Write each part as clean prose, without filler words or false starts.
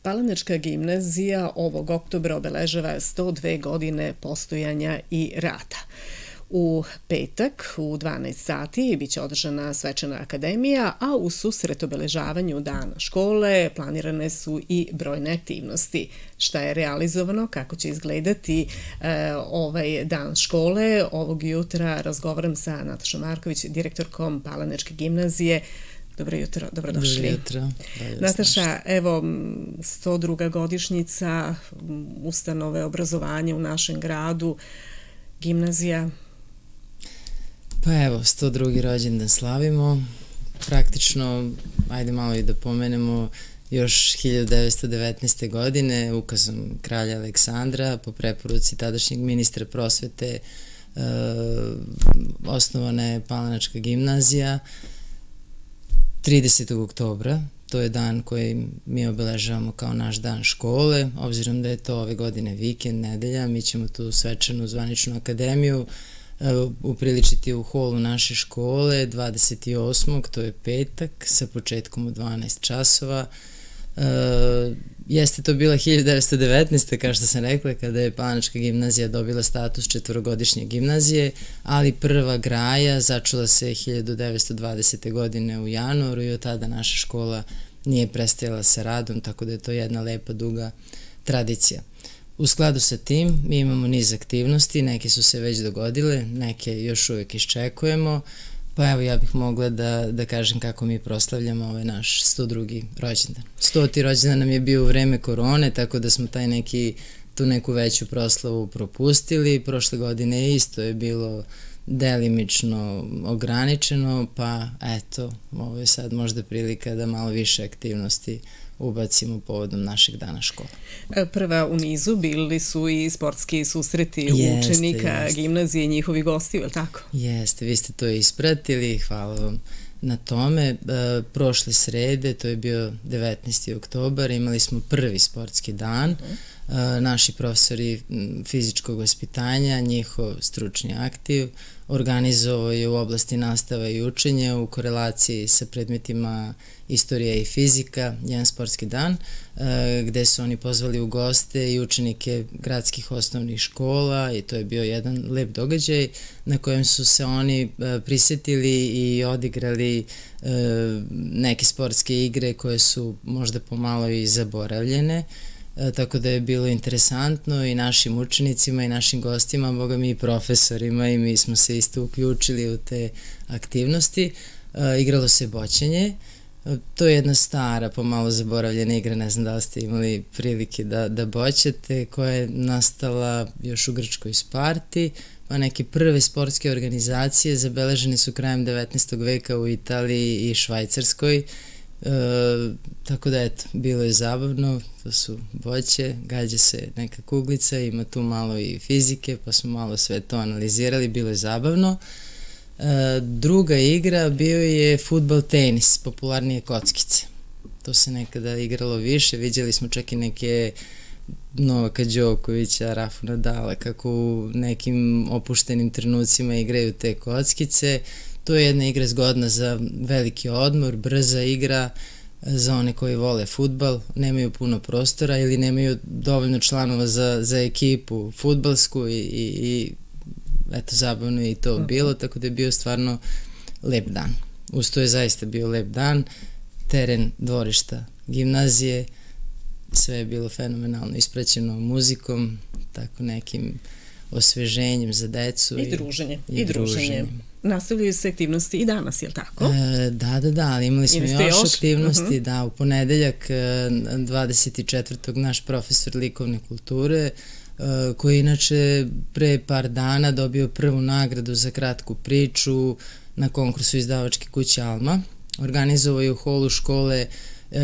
Palanačka gimnazija ovog oktobra obeležava 102 godine postojanja i rada. U petak u 12 sati biće održana svečana akademija, a u susret obeležavanju dana škole planirane su i brojne aktivnosti. Šta je realizovano, kako će izgledati ovaj dan škole? Ovog jutra razgovaram sa Natašom Marković, direktorkom Palanačke gimnazije. Dobro jutro, dobrodošli. Dobro jutro. Nataša, evo, 102. godišnjica ustanove obrazovanja u našem gradu, gimnazija. Pa evo, 102. rođendan slavimo. Praktično, ajde malo i da pomenemo, još 1919. godine ukazom kralja Aleksandra po preporuci tadašnjeg ministra prosvete osnovana je Palanačka gimnazija 30. oktobra. To je dan koji mi obeležavamo kao naš dan škole. Obzirom da je to ove godine vikend, nedelja, mi ćemo tu svečanu zvaničnu akademiju upriličiti u holu naše škole 28. to je petak sa početkom u 12 časova. Jeste to bila 1919. kao što sam rekla, kada je Palanačka gimnazija dobila status četvorogodišnje gimnazije, ali prva graja začula se 1920. godine u januaru i od tada naša škola nije prestajala sa radom, tako da je to jedna lepa, duga tradicija. U skladu sa tim mi imamo niz aktivnosti, neke su se već dogodile, neke još uvijek iščekujemo, pa evo ja bih mogla da kažem kako mi proslavljamo ovaj naš 102. rođendan. 100. rođendan nam je bio u vreme korone, tako da smo tu neku veću proslavu propustili. Prošle godine isto je bilo delimično ograničeno, pa eto, ovo je sad možda prilika da malo više aktivnosti ubacimo povodom našeg dana škole. Prva u nizu bili su i sportski susreti učenika gimnazije i njihovi gosti, je li tako? Jeste, vi ste to ispratili, hvala vam na tome. Prošle srede, to je bio 19. oktobar, imali smo prvi sportski dan. Naši profesori fizičkog vaspitanja, njihov stručni aktiv, organizovao je u oblasti nastava i učenja u korelaciji sa predmetima istorija i fizika, jedan sportski dan, gde su oni pozvali u goste i učenike gradskih osnovnih škola i to je bio jedan lep događaj na kojem su se oni prisetili i odigrali neke sportske igre koje su možda pomalo i zaboravljene. Tako da je bilo interesantno i našim učenicima i našim gostima, boga mi i profesorima, i mi smo se isto uključili u te aktivnosti. Igralo se boćanje. To je jedna stara, pomalo zaboravljena igra, ne znam da li ste imali prilike da boćete, koja je nastala još u Grčkoj Sparti, pa neke prve sportske organizacije zabeležene su krajem 19. veka u Italiji i Švajcarskoj. Tako da eto, bilo je zabavno, to su boće, gađa se neka kuglica, ima tu malo i fizike, pa smo malo sve to analizirali, bilo je zabavno. Druga igra bio je fudbal tenis, popularnije kockice. To se nekada igralo više, vidjeli smo čak i neke Novaka Đokovića, Rafu Nadala, kako u nekim opuštenim trenucima igraju te kockice. To je jedna igra zgodna za veliki odmor, brza igra za one koji vole fudbal, nemaju puno prostora ili nemaju dovoljno članova za ekipu fudbalsku i eto, zabavno je i to bilo, tako da je bio stvarno lep dan. Uz to je zaista bio lep dan, teren dvorišta gimnazije, sve je bilo fenomenalno ispraćeno muzikom, tako nekim osveženjem za decu. I druženje. Nastavljaju se aktivnosti i danas, je li tako? Da, ali imali smo još aktivnosti, da, u ponedeljak 24. naš profesor likovne kulture, koji inače pre par dana dobio prvu nagradu za kratku priču na konkursu izdavačke kuće Alma, organizovao je u holu škole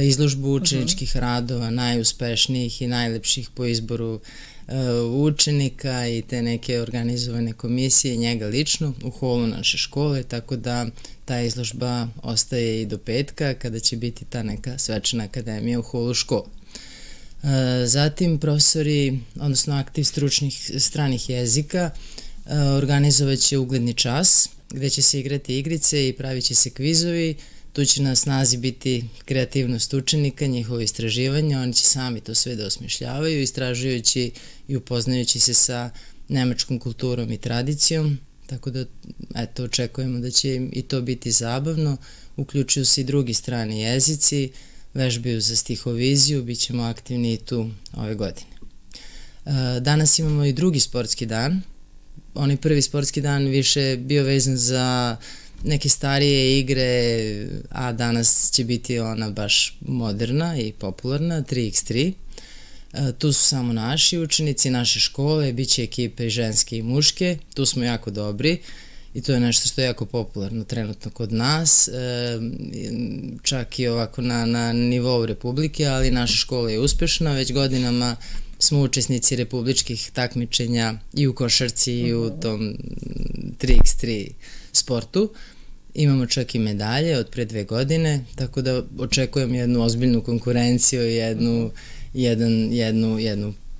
izložbu učeničkih radova, najuspešnijih i najlepših po izboru učenika i te neke organizovane komisije, njega lično u holu naše škole, tako da ta izložba ostaje i do petka kada će biti ta neka svečana akademija u holu škole. Zatim profesori, odnosno aktiv stručnih stranih jezika, organizovat će ugledni čas gde će se igrati igrice i pravit će se kvizovi Tu će na snazi biti kreativnost učenika, njihovo istraživanje, oni će sami to sve da osmišljavaju, istražujući i upoznajući se sa nemačkom kulturom i tradicijom, tako da eto, očekujemo da će im i to biti zabavno. Uključuju se i drugi strani jezici, vežbaju za stihoviziju, bit ćemo aktivni i tu ove godine. Danas imamo i drugi sportski dan. Onaj prvi sportski dan više bio vezan za neke starije igre, a danas će biti ona baš moderna i popularna, 3x3. Tu su samo naši učenici, naše škole, bit će ekipe i ženske i muške, tu smo jako dobri i to je nešto što je jako popularno trenutno kod nas, čak i ovako na nivou Republike, ali naša škola je uspešna, već godinama smo učesnici republičkih takmičenja i u košarci i u tom 3x3 sportu. Imamo čak i medalje od pre 2 godine, tako da očekujem jednu ozbiljnu konkurenciju i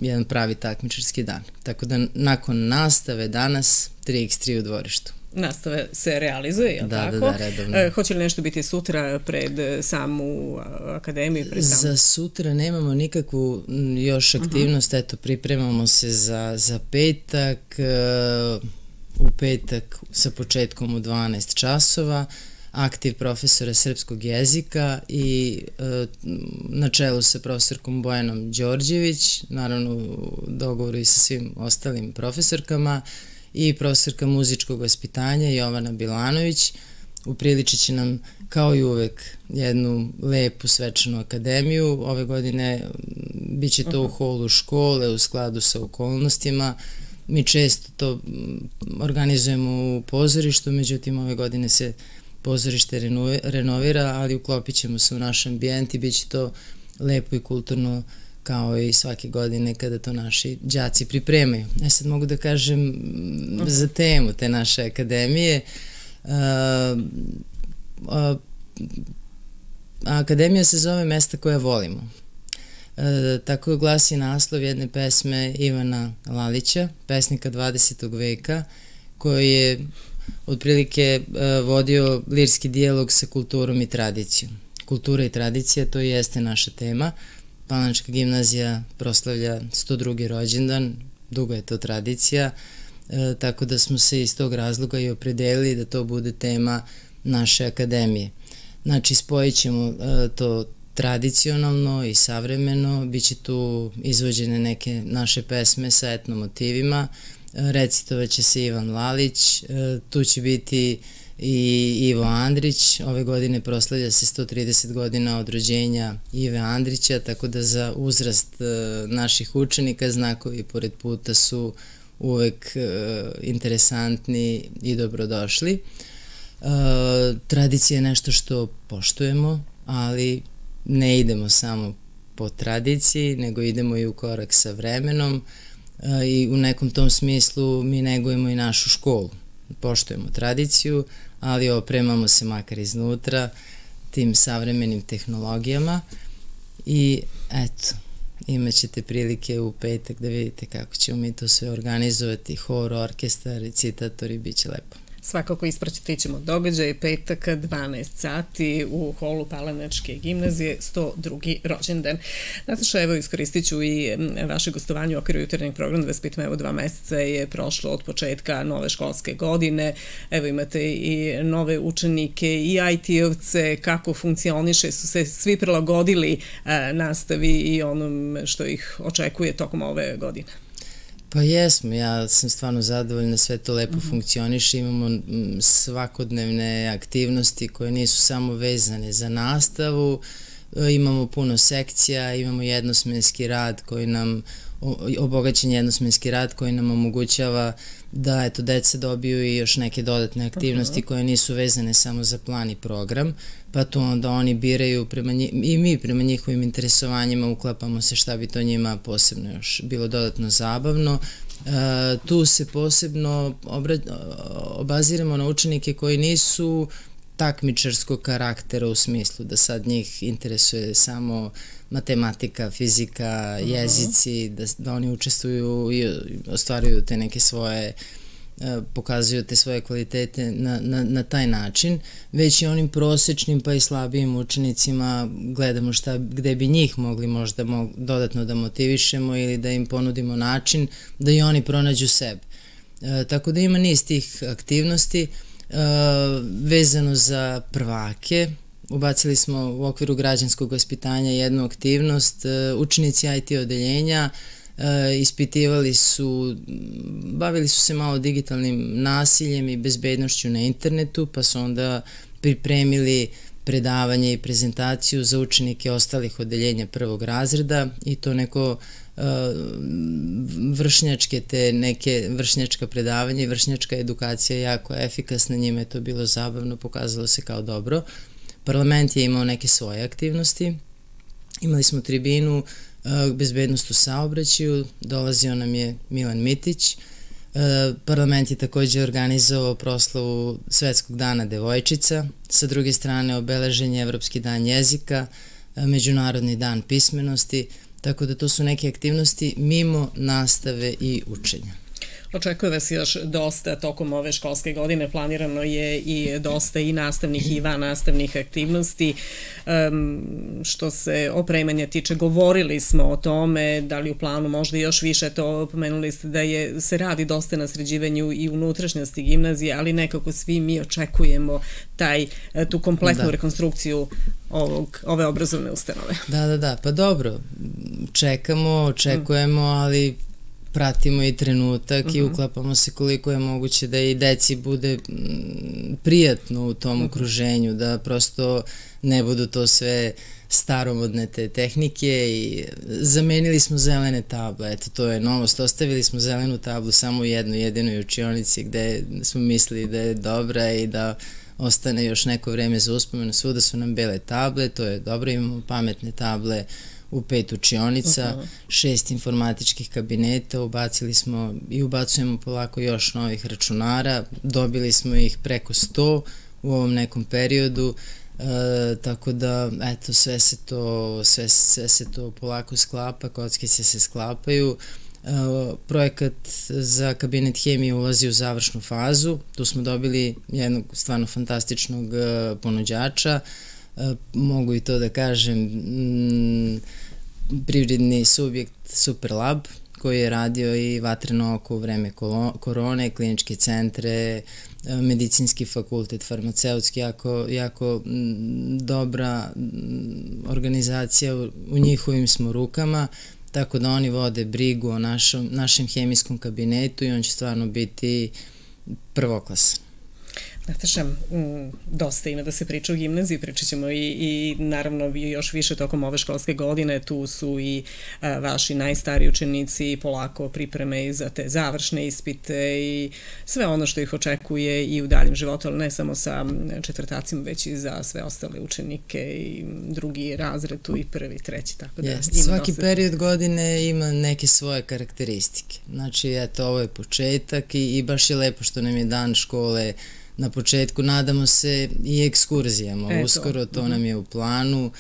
jedan pravi takmičarski dan. Tako da nakon nastave danas 3x3 u dvorištu. Nastave se realizuje, je li tako? Da, redovno. Hoće li nešto biti sutra pred samu akademiju? Za sutra nemamo nikakvu još aktivnost, eto, pripremamo se za petak, u petak sa početkom u 12 časova, aktiv profesora srpskog jezika i na čelu sa profesorkom Bojanom Đorđević, naravno u dogovoru i sa svim ostalim profesorkama, i profesorka muzičkog vaspitanja Jovana Bilanović. Upriličit će nam kao i uvek jednu lepu svečanu akademiju. Ove godine bit će to u holu škole u skladu sa okolnostima. Mi često to organizujemo u pozorištu, međutim ove godine se pozorište renovira, ali uklopit ćemo se u naš ambijent i bit će to lepo i kulturno kao i svake godine kada to naši đaci pripremaju. Sad mogu da kažem za temu te naše akademije. Akademija se zove Mesta koja volimo. Tako glasi naslov jedne pesme Ivana Lalića, pesnika 20. veka, koji je otprilike vodio lirski dijalog sa kulturom i tradicijom. Kultura i tradicija, to jeste naša tema. Palanačka gimnazija proslavlja 102. rođendan, dugo je to tradicija, tako da smo se iz tog razloga i opredelili da to bude tema naše akademije. Znači, spojit ćemo to tradicionalno i savremeno, bit će tu izvođene neke naše pesme sa etno motivima, recitovat će se Ivan Lalić, tu će biti i Ivo Andrić, ove godine proslavlja se 130 godina od rođenja Ive Andrića, tako da za uzrast naših učenika znakovi pored puta su uvek interesantni i dobrodošli. Tradicija je nešto što poštujemo, ali ne idemo samo po tradiciji, nego idemo i u korak sa vremenom i u nekom tom smislu mi negujemo i našu školu. Poštujemo tradiciju, ali opremamo se makar iznutra tim savremenim tehnologijama i eto, imat ćete prilike u petak da vidite kako ćemo mi to sve organizovati, hor, orkestar, recitatori, bit će lepo. Svakako ispratit ćemo događaj petak 12 sati u holu Palanačke gimnazije, 102. rođendan. Nataša, evo iskoristit ću i vaše gostovanje u okviru jutarnjeg programa da vas pitam, evo 2 meseca je prošlo od početka nove školske godine, evo imate i nove učenike i IT-ovce, kako funkcioniše, su se svi prilagodili nastavi i onom što ih očekuje tokom ove godine? Pa jesmo, ja sam stvarno zadovoljna, sve to lepo funkcioniše, imamo svakodnevne aktivnosti koje nisu samo vezane za nastavu, imamo puno sekcija, imamo jednosmenski rad koji nam, obogaćen jednosmenski rad koji nam omogućava da eto, deca dobiju i još neke dodatne aktivnosti koje nisu vezane samo za plan i program, pa tu onda oni biraju i mi prema njihovim interesovanjima uklapamo se šta bi to njima posebno još bilo dodatno zabavno. Tu se posebno obaziramo na učenike koji nisu takmičarskog karaktera u smislu da sad njih interesuje samo matematika, fizika, jezici, da oni učestvuju i ostvaruju te neke svoje pokazuju te svoje kvalitete na taj način, već i onim prosečnim pa i slabijim učenicima gledamo gde bi njih mogli možda dodatno da motivišemo ili da im ponudimo način da i oni pronađu sebe. Tako da ima niz tih aktivnosti. Vezano za prvake, ubacili smo u okviru građanskog vaspitanja jednu aktivnost. Učenici IT odeljenja bavili su se malo digitalnim nasiljem i bezbednošću na internetu, pa su onda pripremili predavanje i prezentaciju za učenike ostalih odeljenja prvog razreda i to neko vršnjačka predavanja i vršnjačka edukacija jako efikasna, njima je to bilo zabavno, pokazalo se kao dobro. Parlament je imao neke svoje aktivnosti, imali smo tribinu bezbednost u saobraćaju, dolazio nam je Milan Mitić. Parlament je takođe organizovao proslavu Svetskog dana devojčica, sa druge strane obeležen je Evropski dan jezika, Međunarodni dan pismenosti, tako da to su neke aktivnosti mimo nastave i učenja. Očekuje vas još dosta tokom ove školske godine, planirano je i dosta i nastavnih i vannastavnih aktivnosti. Što se opremanja tiče, govorili smo o tome, da li u planu možda još više, to pomenuli ste da se radi dosta na sređivanju i unutrašnjosti gimnazije, ali nekako svi mi očekujemo tu kompletnu rekonstrukciju ove obrazovne ustanove. Da, pa dobro, očekujemo, ali pratimo i trenutak i uklapamo se koliko je moguće da i deci bude prijatno u tom okruženju, da prosto ne budu to sve staromodne te tehnike i zamenili smo zelene table, eto to je novost, ostavili smo zelenu tablu samo u jednoj jedinoj učionici gde smo mislili da je dobra i da ostane još neko vreme za uspomenu, svuda su nam bele table, to je dobro, imamo pametne table u 5 učionica, 6 informatičkih kabineta, ubacili smo i ubacujemo polako još novih računara, dobili smo ih preko 100 u ovom nekom periodu, tako da, eto, sve se to polako sklapa, kockice se sklapaju. Projekat za kabinet hemije ulazi u završnu fazu, tu smo dobili jednog stvarno fantastičnog ponuđača, mogu i to da kažem, privredni subjekt Superlab, koji je radio i Vatreno oko u vreme korone, kliničke centre, medicinski fakultet, farmaceutski, jako dobra organizacija, u njihovim smo rukama, tako da oni vode brigu o našem hemijskom kabinetu i on će stvarno biti prvoklasan. Nataša, dosta ima da se priča o gimnaziji, pričat ćemo i naravno još više tokom ove školske godine, tu su i vaši najstariji učenici, polako pripreme i za te završne ispite i sve ono što ih očekuje i u daljem životu, ali ne samo sa četvrtacima, već i za sve ostale učenike i drugi razred, tu i prvi, treći, tako da ima dosta. Svaki period godine ima neke svoje karakteristike, znači eto ovo je početak i baš je lepo što nam je dan škole na početku, nadamo se i ekskurzijama, uskoro to nam je u planu,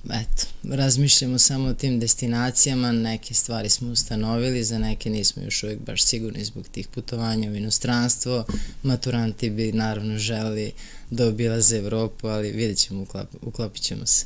eto, razmišljamo samo o tim destinacijama, neke stvari smo ustanovili, za neke nismo još uvijek baš sigurni zbog tih putovanja u inostranstvo, maturanti bi naravno želeli da obilaze Evropu, ali vidjet ćemo, uklopit ćemo se.